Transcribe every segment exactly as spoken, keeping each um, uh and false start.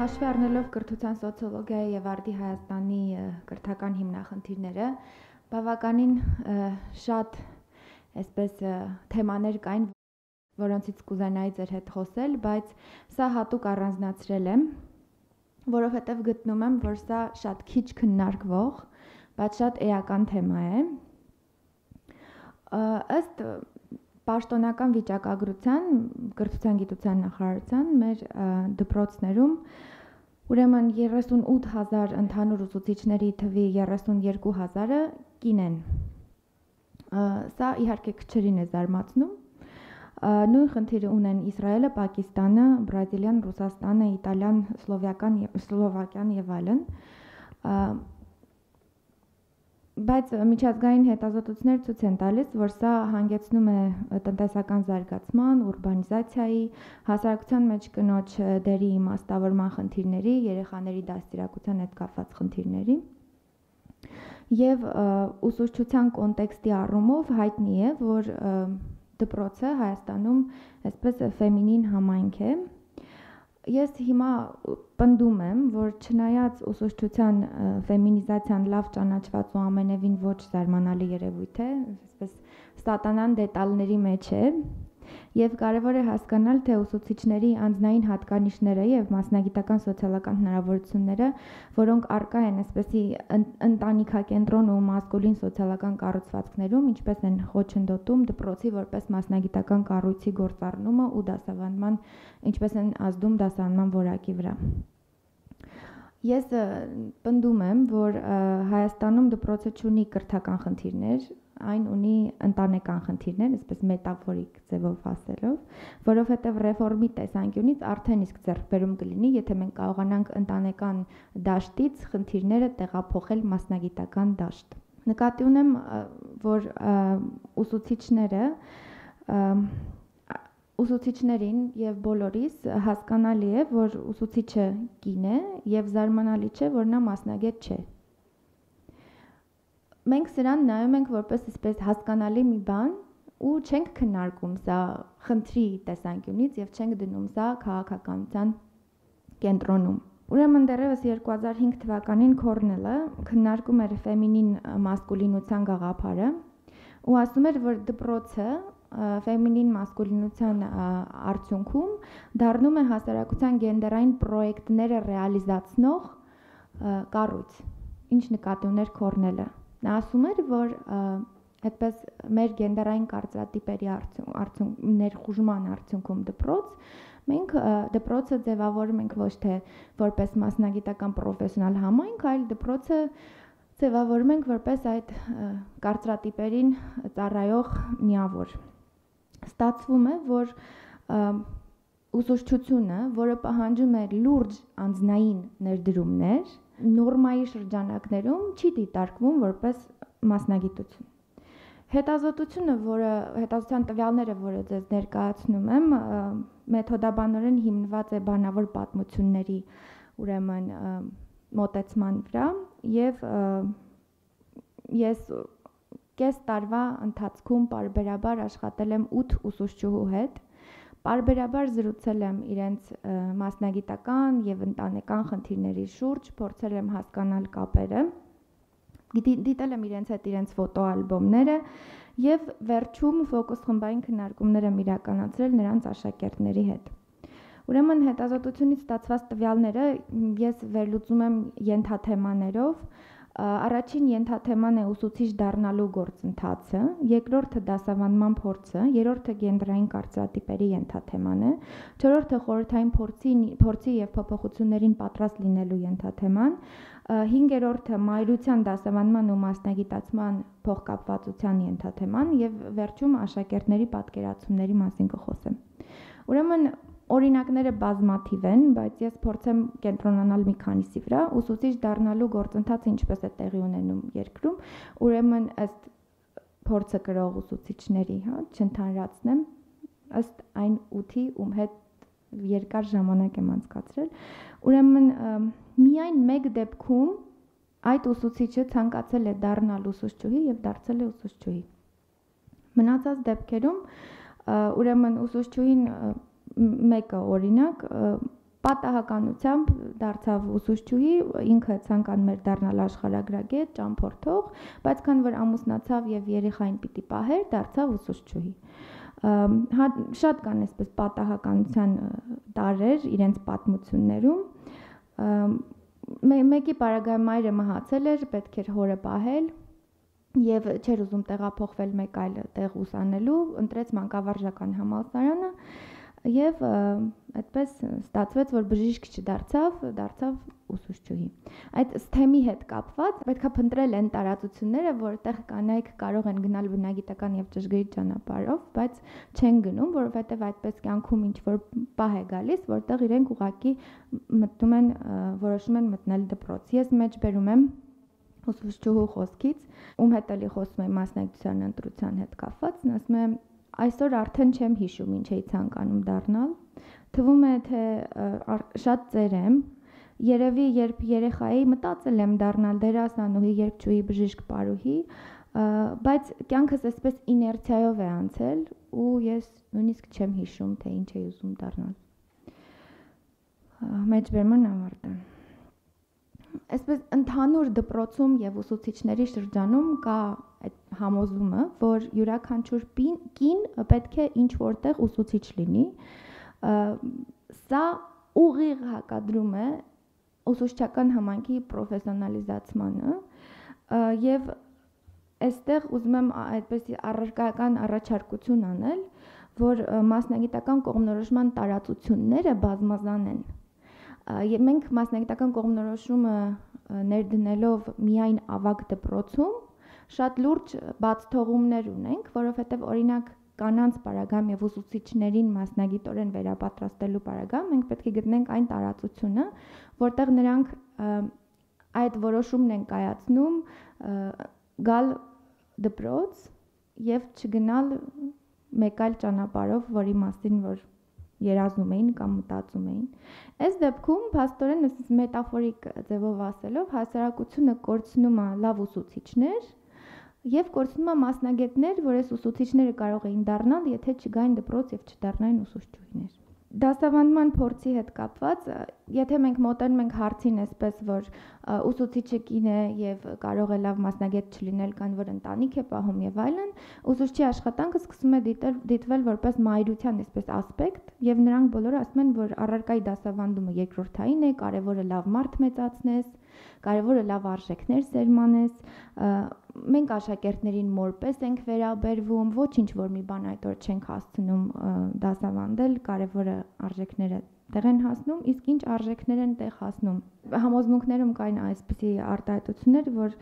Հաշվի առնելով կրթության սոցիոլոգիայի եւ արդի Հայաստանի կրթական հիմնախնդիրները, բավականին շատ այսպես թեմաներ կային, որոնցից կուզենայի ձեր հետ խոսել, բայց սա հատուկ առանձնացրել եմ, որովհետեւ գտնում եմ, որ սա շատ քիչ քննարկվող, բայց շատ էական թեմա է։ Ըստ պաշտոնական վիճակագրության, կրթության գիտության նախարարության մեր դպրոցներում ուրեմն երեսունութ հազար ընդհանուր ուսուցիչների թվի երեսունյոթ հազարը կին են։ Սա իհարկե քչերին է զարմացնում։ Նույն խնդիրը ունեն Իսրայելը, Պակիստանը, Բրազիլիան, Ռուսաստանը, Իտալիան, Սլովակիան, Սլովակիան եւ այլն։ Բայց միջազգային հետազոտություններ ցույց են տալիս, որ սա հանգեցնում է տնտեսական զարգացման, ուրբանիզացիայի, հասարակության մեջ կնոջ դերի իմաստավորման խնդիրների, երեխաների դաստիարակության հետ կապված խնդիրների եւ ուսուցչության կոնտեքստի առումով հայտնի է, որ դպրոցը Հայաստանում այսպես ֆեմինին համայնք է։ Ես հիմա պնդում եմ, որ չնայած ուսուցչության ֆեմինիզացիան լավ ճանաչված ու ամենևին ոչ զարմանալի երևույթ է, այսպես սատանան դետալների մեջ է, եւ կարեւոր է հասկանալ, թե ուսուցիչների անձնային հատկանիշները եւ մասնագիտական սոցիալական հնարավորությունները, որոնք առկա են այսպեսի ընտանիքակենտրոն ու մասկուլին սոցիալական կառուցվածքներում, ինչպես են խոչընդոտում դպրոցի որպես մասնագիտական կառույցի գործառնումը ու դասավանդման, ինչպես են ազդում դասավանդման որակի վրա։ Ես պնդում եմ, որ Հայաստանում դպրոցը չունի կրթական խնդիրներ, այն ունի ընտանեկան խնդիրներ, այսպես մետաֆորիկ ձևով ասելով, որովհետև ռեֆորմի տեսանկյունից արդեն իսկ ձեռքբերում կլինի, եթե մենք կարողանանք ընտանեկան դաշտից խնդիրները տեղափոխել մասնագիտական դաշտ։ Նկատի ունեմ, որ ուսուցիչները ուսուցիչներին եւ բոլորիս հասկանալի է, որ ուսուցիչը կին է եւ զարմանալի չէ, որ նա մասնագետ չէ։ Մենք սրան նայում ենք որպես այսպես հասկանալի մի բան ու չենք քննարկում սա խնդրի տեսանկյունից եւ չենք դնում սա քաղաքականության կենտրոնում։ Ուրեմն դեռևս երկու հազար հինգ թվականին Քորնելը քննարկում էր ֆեմինին մասկուլինության գաղափարը ու ասում էր, որ դպրոցը ֆեմինին մասկուլինության արդյունքում դառնում է հասարակության գենդերային պրոյեկտները ռեալիզացնող կառույց, ինչ նկատի ուներ Քորնելը։ Նա ասում էր, որ այդպես մեր գենդերային կարծրատիպերի արդյունքում ներխուժման արդյունքում դպրոց մենք դպրոցը ձևավորում ենք ոչ թե որպես մասնագիտական պրոֆեսիոնալ համայնք, այլ դպրոցը ձևավորում ենք որպես այդ կարծրատիպերին ծառայող միավոր։ Ստացվում է, որ ուսուցչությունը, որը պահանջում է լուրջ անձնային ներդրումներ, նորմայի շրջանակներում չի դիտարկվում որպես մասնագիտություն։ Հետազոտությունը, որը հետազոտության տվյալները, որը ձեզ ներկայացնում եմ, մեթոդաբանորեն հիմնված է բանավոր պատմությունների, ուրեմն մոտեցման վրա եւ ես կես տարվա ընթացքում պարբերաբար աշխատել եմ ութ ուսուցչուհու հետ, պարբերաբար զրուցել եմ իրենց մասնագիտական եւ ընտանեկան խնդիրների շուրջ, փորձել եմ հասկանալ կապերը, դիտել եմ իրենց հետ իրենց ֆոտոալբոմները եւ վերջում ֆոկուս խմբային քննարկումներ եմ իրականացրել նրանց աշակերտների հետ։ Ուրեմն հետազոտությունից ստացված տվյալները ես վերլուծում եմ ենթաթեմաներով։ Առաջին ենթաթեման է ուսուցիչ դառնալու գործընթացը, երկրորդը դասավանդման փորձը, երրորդը գենդերային կարծրատիպերի ենթաթեման է, չորրորդը խորհրդային փորձի փորձի եւ փոփոխություններին պատրաստ լինելու ենթաթեման, հինգերորդը մայրության դասավանդման ու մասնագիտացման փոխկապվածության ենթաթեման եւ վերջում աշակերտների պատկերացումների մասին կխոսեմ։ Ուրեմն օրինակները բազմաթիվ են, բայց ես փորձեմ կենտրոնանալ մի քանիսի վրա։ Ուսուցիչ դառնալու գործընթացը ինչպես է տեղի ունենում երկրում, ուրեմն ըստ փորձը կրող ուսուցիչների, հա, չընդհանրացնեմ, ըստ այն ութի, ում հետ երկար ժամանակ եմ անցկացրել, ուրեմն միայն մեկ դեպքում այդ ուսուցիչը ցանկացել է դառնալ ուսուցչուհի եւ դարձել է ուսուցչուհի։ Մնացած դեպքերում ուրեմն ուսուցչուհին մեկը օրինակ պատահականությամբ դարձավ ուսուցչուհի, ինքը ցանկանում էր դառնալ աշխարհագրագետ, ճամփորդող, բայց քան որ ամուսնացավ եւ երեխային պիտի պահեր, դարձավ ուսուցչուհի։ Հա, շատ կան այսպես պատահականության տարրեր իրենց պատմություններում։ Մեկի պարագայում մայրը մահացել էր, պետք էր հորը պահել եւ չէր ուզում տեղափոխվել մեկ այլ տեղ ուսանելու, ընտրեց մանկավարժական համալսարանը եւ այդպես ստացվեց, որ բժիշկ չդարձավ, դարձավ ուսուցչուհի։ Այդ STEM-ի հետ կապված պետքա փնտրել են տարածությունները, որտեղ կանայք կարող են գնալ բնագիտական եւ ճշգրիտ ճանապարհով, բայց չեն գնում, որովհետեւ այդպես կյանքում ինչ որ պահ է գալիս, որտեղ իրենք ուղակի մտնում են, որոշում են մտնել դպրոց։ Ես մեջ բերում եմ ուսուցչուհու խոսքից, ում հետ էլի խոսում եմ մասնագիտության ընտրության հետ կապված, ասում եմ այսօր արդեն չեմ հիշում ինչ էի ցանկանում դառնալ, թվում է թե շատ ծեր եմ, երևի երբ երեխայի մտածել եմ դառնալ դերասանուհի, երգչուհի, բժիշկ, պարուհի, բայց կյանքս այսպես իներցիայով է անցել ու ես նույնիսկ չեմ հիշում թե ինչ էի ուզում դառնալ։ Մեջբերման ավարտը։ Այսպես ընդհանուր դպրոցում եւ ուսուցիչների շրջանում կա այդ համոզումը, որ յուրաքանչյուր կին պետք է ինչ որտեղ ուսուցիչ լինի։ Սա ուղիղ հակադրում է ուսուցչական համայնքի պրոֆեսիոնալիզացմանը եւ այստեղ ուզում եմ այդպես առարկայական առաջարկություն անել, որ մասնագիտական կողմնորոշման տարածությունները բազմազան են։ Եվ մենք մասնագիտական կողմնորոշումը ներդնելով միայն ավագ դպրոցում շատ լուրջ բացթողումներ ունենք, որովհետև օրինակ կանանց պարագայում եւ ուսուցիչներին մասնագիտորեն վերապատրաստելու պարագայում մենք պետք է գտնենք այն տարածությունը, որտեղ նրանք այդ որոշումն են կայացնում գալ դպրոց եւ չգնալ մեկ այլ ճանապարհով, որի մասին որ երազում էին կամ մտածում էին։ Այս դեպքում փաստորեն մետաֆորիկ ձևով ասելով հասարակությունը կորցնում է լավ ուսուցիչներ եւ կորցնում է մասնագետներ, որ այս ուսուցիչները կարող էին դառնալ, եթե չգային դպրոց եւ չդառնային ուսուցչուհիներ։ Դասավանդման փորձի հետ կապված, եթե մենք մոտենում ենք հարցին այսպես, որ ուսուցիչը կին է եւ կարող է լավ մասնագետ չլինել, քան որ ընտանիք է պահում եւ այլն, ուսուցչի աշխատանքը սկսում է դիտվել որպես մայրության այսպես ասպեկտ եւ նրանք բոլորը ասում են, որ առարկայի դասավանդումը երկրորդային է, կարեւորը լավ մարդ մեծացնես, կարեւորը լավ արժեքներ սերմանես, մենք աշակերտներին մորպես ենք վերաբերվում, ոչինչ որ մի բան այդ օր չենք հասցնում դասավանդել, կարևորը արժեքները տեղ են հասնում, իսկ ինչ արժեքներ են տեղ հասնում։ Համոզմունքներում կային այսպիսի արտահայտություններ, որ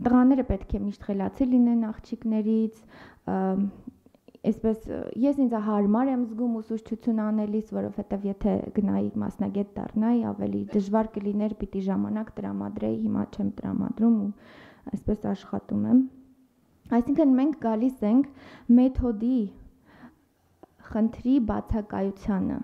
տղաները պետք է միշտ խելացի լինեն աղջիկներից, այսպես ես ինձ հարմար եմ զգում ուսուցչություն անելիս, որովհետև եթե գնայի մասնագետ դառնայի, ավելի դժվար կլիներ, պիտի ժամանակ տրամադրեի, հիմա չեմ տրամադրում ու այսպես աշխատում եմ։ Այսինքն մենք գալիս ենք մեթոդի խնդրի բացակայությանը։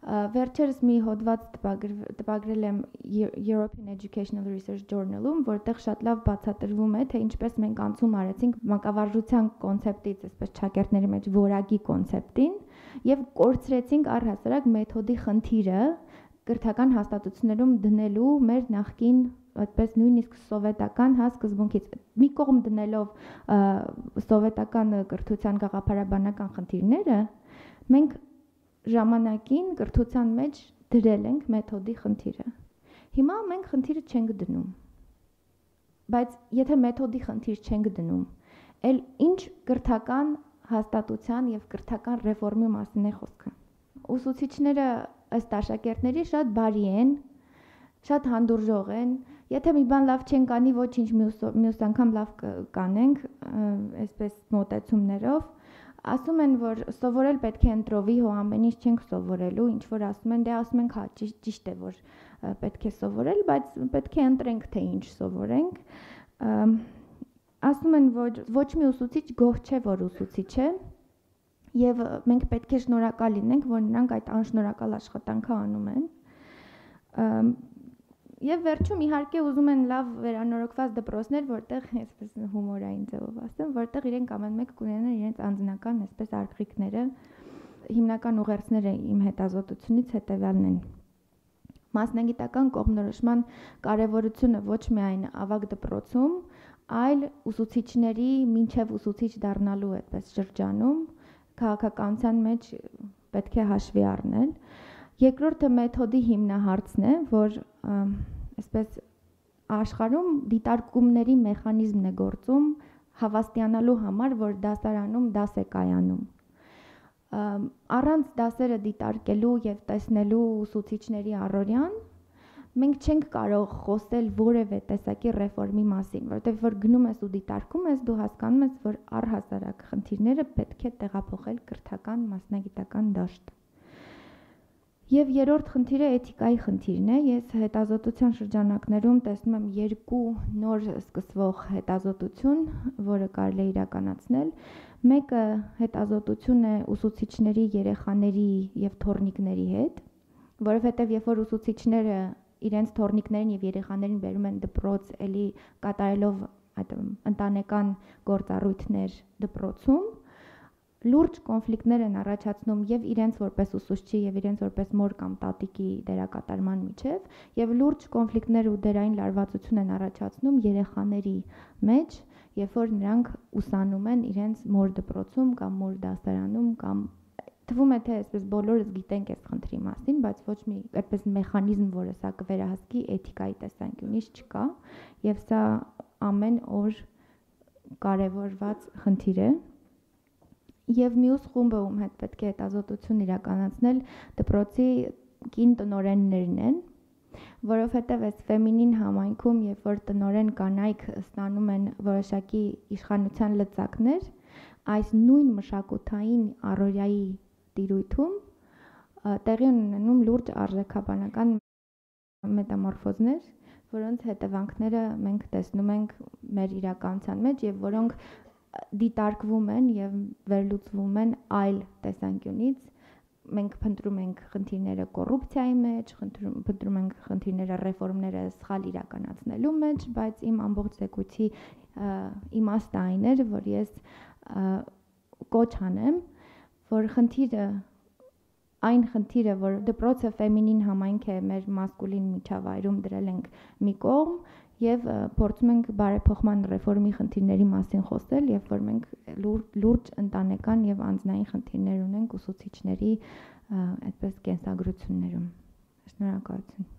Վերջերս մի հոդված տպագրել եմ European Educational Research Journal-ում, որտեղ շատ լավ բացատրվում է, թե ինչպես մենք անցում արեցինք մանկավարժության կոնցեպտից, այսպես շակերտների մեջ որակի կոնցեպտին, եւ կորցրեցինք առհասարակ մեթոդի խնդիրը կրթական հաստատություններում դնելու մեր նախկին այդպես նույնիսկ սովետական հա սկզբունքից մի կողմ դնելով սովետական կրթության գաղափարաբանական խնդիրները, մենք ժամանակին կրթության մեջ դրել ենք մեթոդի խնդիրը։ Հիմա մենք խնդիրը չենք դնում։ Բայց եթե մեթոդի խնդիր չենք դնում, էլ ինչ կրթական հաստատության եւ կրթական ռեֆորմի մասին է խոսքը։ Ուսուցիչները ըստ աշակերտների շատ բարի են, շատ հանդուրժող են, եթե մի բան լավ չեն կանի, ոչինչ մյուս անգամ լավ կանենք, այսպես մոտեցումներով, ասում են, որ սովորել պետք է ընտրովի, հո ամեն ինչ չենք սովորելու, ինչ որ ասում են, դե ասում ենք, հա, ճիշտ է, որ պետք է սովորել, բայց պետք է ընտրենք, թե ինչ սովորենք։ Ասում են, որ ոչ մի ուսուցիչ գոհ չէ, որ ուսուցիչ է, եւ մենք պետք է շնորհակալ լինենք, որ նրանք այդ անշնորհակալ աշխատանքը անում են։ Եվ վերջում իհարկե ուզում են լավ վերանորոգված դպրոցներ, որտեղ այսպես հումորային ձևով ասեմ, որտեղ իրենք ամեն մեկ կունենան իրենց անձնական այսպես արկղիկները, հիմնական ուղերձները իմ հետազոտությունից հետևյալն են։ Մասնագիտական կողմնորոշման կարևորությունը ոչ միայն ավագ դպրոցում, այլ ուսուցիչների մինչև ուսուցիչ դառնալու այդպես շրջանում քաղաքականության մեջ պետք է հաշվի առնել։ Երկրորդը մեթոդի հիմնահարցն է, որ այսպես աշխարհում դիտարկումների մեխանիզմն է գործում հավաստիանալու համար, որ դասարանում դաս է կայանում։ Առանց դասերը դիտարկելու եւ տեսնելու ուսուցիչների առօրյան մենք չենք կարող խոսել որևէ տեսակի ռեֆորմի մասին, որովհետեւ որ գնում ես ու դիտարկում ես, դու հասկանում ես, որ առհասարակ խնդիրները պետք է տեղափոխել կրթական մասնագիտական դաշտ։ Եվ երրորդ խնդիրը էթիկայի խնդիրն է։ Ես հետազոտության շրջանակներում տեսնում եմ երկու նոր սկսվող հետազոտություն, որը կարելի է իրականացնել։ Մեկը հետազոտություն է ուսուցիչների, երեխաների եւ թոռնիկների հետ, որովհետեւ երբ որ ուսուցիչները իրենց թոռնիկներին եւ երեխաներին բերում են դպրոց, էլի կատարելով այդ ընտանեկան գործառույթներ դպրոցում, լուրջ կոնֆլիկտներ են առաջացնում եւ իրենց որպես ուսուցչի եւ իրենց որպես մոր կամ տատիկի դերակատարման միջև եւ լուրջ կոնֆլիկտներ ու դերային լարվածություն են առաջացնում երեխաների մեջ, երբ որ նրանք ուսանում են իրենց մոր դպրոցում կամ մոր դասարանում կամ թվում է թե այսպես բոլորս գիտենք այս խնդրի մասին, բայց ոչ մի այդպես մեխանիզմ, որը սա կվերահսկի էթիկայի տեսանկյունից չկա եւ սա ամեն օր կարեւորված խնդիր է։ Եվ մյուս խումբը, ում հետ պետք է հետազոտություն իրականացնել, դպրոցի կին տնօրեններն են, որովհետև այս ֆեմինին համայնքում, երբ որ տնօրեն կանայք ստանում են որոշակի իշխանության լծակներ, այս նույն մշակութային առօրյայի տիրույթում տեղի ունենում լուրջ արժեքաբանական մետամորֆոզներ, որոնց հետևանքները մենք տեսնում ենք մեր իրականության մեջ եւ որոնք դիտարկվում են եւ վերլուծվում են այլ տեսանկյունից։ Մենք փնտրում ենք խնդիրները կոռուպցիայի մեջ, փնտրում ենք խնդիրները ռեֆորմները սխալ իրականացնելու մեջ, բայց իմ ամբողջ զեկույցի իմաստը այն էր, որ ես կոչ անեմ, որ խնդիրը այն խնդիրը, որ դպրոցը ֆեմինին համայնք է մեր մասկուլին միջավայրում դրել ենք մի կողմ եւ փորձում ենք բարեփոխման ռեֆորմի խնդիրների մասին խոսել, երբ որ մենք լուրջ ընտանեկան եւ անձնային խնդիրներ ունենք ուսուցիչների այդպես կենսագրություններում։ Շնորհակալություն։